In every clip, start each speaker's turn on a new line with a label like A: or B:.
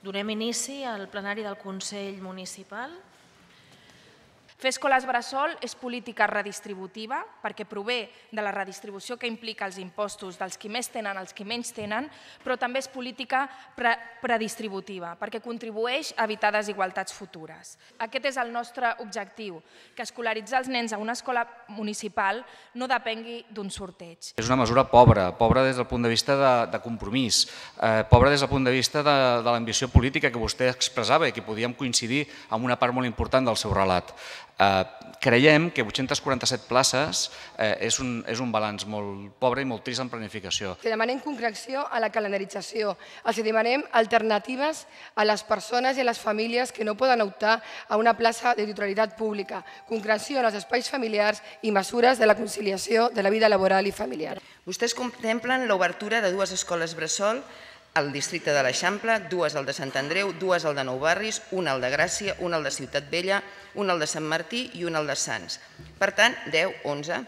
A: Donem inici al plenari del Consell Municipal.
B: Fer escoles bressol és política redistributiva perquè prové de la redistribució que implica els impostos dels qui més tenen als qui menys tenen, però també és política predistributiva perquè contribueix a evitar desigualtats futures. Aquest és el nostre objectiu, que escolaritzar els nens a una escola municipal no depengui d'un sorteig.
C: És una mesura pobra des del punt de vista de compromís, pobra des del punt de vista de l'ambició política que vostè expressava i que podíem coincidir amb una part molt important del seu relat. Creiem que 847 places és un balanç molt pobre i molt trist en planificació.
D: Demanem concreció a la calendarització. Els demanem alternatives a les persones i a les famílies que no poden optar a una plaça de titularitat pública, concreció en els espais familiars i mesures de la conciliació de la vida laboral i familiar.
E: Vostès contemplen l'obertura de 2 escoles bressol al districte de l'Eixample, 2 al de Sant Andreu, 2 al de Nou Barris, una al de Gràcia, una al de Ciutat Vella, una al de Sant Martí i una al de Sants. Per tant, 10, 11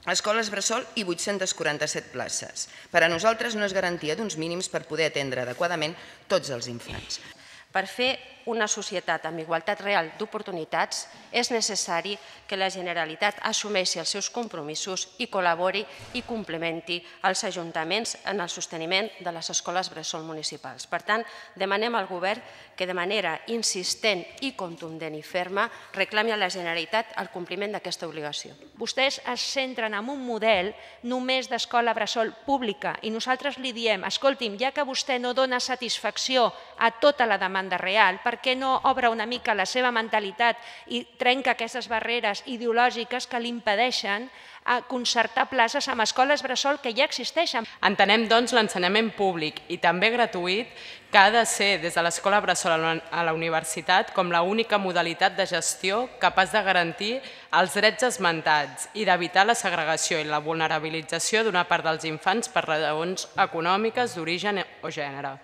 E: escoles bressol i 847 places. Per a nosaltres no és garantia d'uns mínims per poder atendre adequadament tots els infants.
F: Per fer una societat amb igualtat real d'oportunitats és necessari que la Generalitat assumeixi els seus compromisos i col·labori i complementi els ajuntaments en el sosteniment de les escoles bressol municipals. Per tant, demanem al Govern que de manera insistent i contundent i ferma reclami a la Generalitat el compliment d'aquesta obligació.
G: Vostès es centren en un model només d'escola bressol pública i nosaltres li diem, escolti'm, ja que vostè no dona satisfacció a tota la demanda real, per què no obre una mica la seva mentalitat i trenca aquestes barreres ideològiques que li impedeixen concertar places amb escoles bressol que ja existeixen?
H: Entenem, doncs, l'ensenyament públic i també gratuït que ha de ser des de l'escola bressol a la universitat com l'única modalitat de gestió capaç de garantir els drets esmentats i d'evitar la segregació i la vulnerabilització d'una part dels infants per raons econòmiques, d'origen o gènere.